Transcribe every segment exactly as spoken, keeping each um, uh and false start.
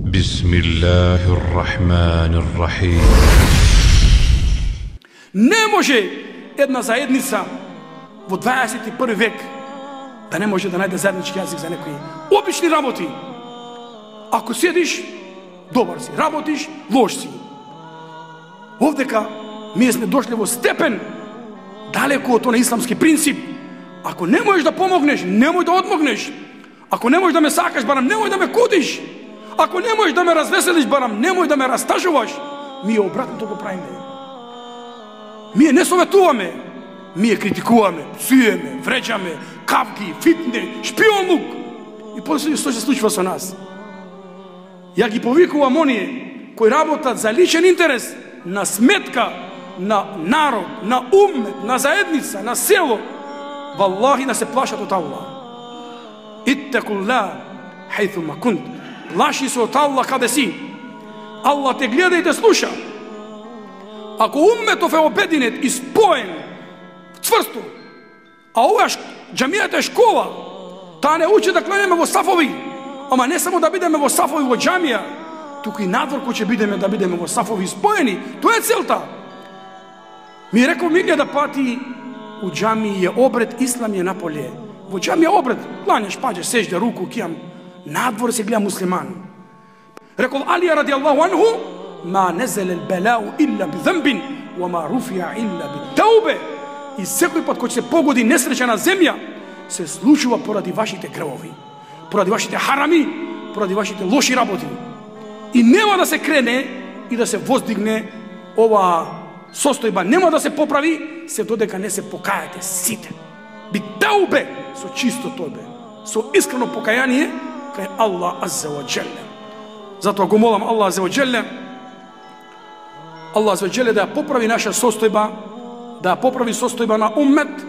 Бисмиллахир-рахманир-рахим. Не може една заедница во дваесет и први век да не може да најде заеднички јазик за некои обични работи. Ако седиш, добар си, работиш, лош си. Овдека ние сме дошли во степен далеко од тој исламски принцип. Ако не можеш да помогнеш, немој да одмогнеш. Ако не можеш да ме сакаш, барам немој да ме кудиш. Ако не можеш да ме развеселиш, барам немој да ме растажуваш. Ние обратното го правиме. Ние не советуваме, ние критикуваме, псуеме, вреđаме, кавги, фитне, шпионлук. И после што се случува со нас? Ја ги повикувам оние кои работат за личен интерес, на сметка на народ, на уммет, на заедница, на село. Валлахи да се плашат од Аллах. Иттакуллах хајтума кунт. Плаши се од Аллах каде си. Аллах те гледа и те слуша. Ако умметов е обединет и споен цврсто, а ова џамијата е школа, таа не учи да кланеме во сафови, ама не само да бидеме во сафови во џамија, туку и надвор кој ќе бидеме да бидеме во сафови споени. Тоа е целта. Ми рекол милија да пати у џамија е обред, ислам е наполе. Во џамија обред, кланеш, паѓаш, сежда, руку, кијам. Надвор се гледа муслиман. Рекол Алија ради Аллаху анху, ма незеле белау илля би зембин, ва ма руфија илля би таубе. И секој пат кој се погоди несреќа на земја, се случува поради вашите гревови, поради вашите харами, поради вашите лоши работи. И нема да се крене и да се воздигне ова состојба, нема да се поправи се додека не се покајате сите. Би таубе, со чисто тобе, со искрено покаяние кај Аллах азза ва џелле. Затоа го молам Аллах азза ва џелле, Аллах азза ва џелле да ја поправи наша состојба, да ја поправи состојба на уммет,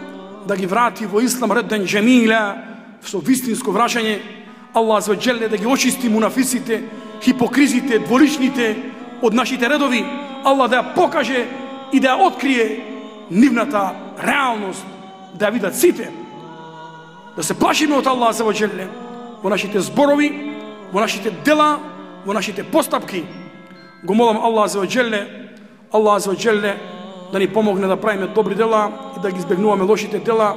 да ги врати во ислам редден џемила, со вистинско враќање. Аллах азза ва џелле да ги очисти мунафисите, хипокризите, дволичните од нашите редови. Аллах да ја покаже и да ја открие нивната реалност, да ја видат сите. Да се плашиме од Аллах азза ва џелле во нашите зборови, во нашите дела, во нашите постапки. Го молам Аллах азза ва џелле, Аллах азза ва џелле да ни помогне да правиме добри дела и да ги избегнуваме лошите дела.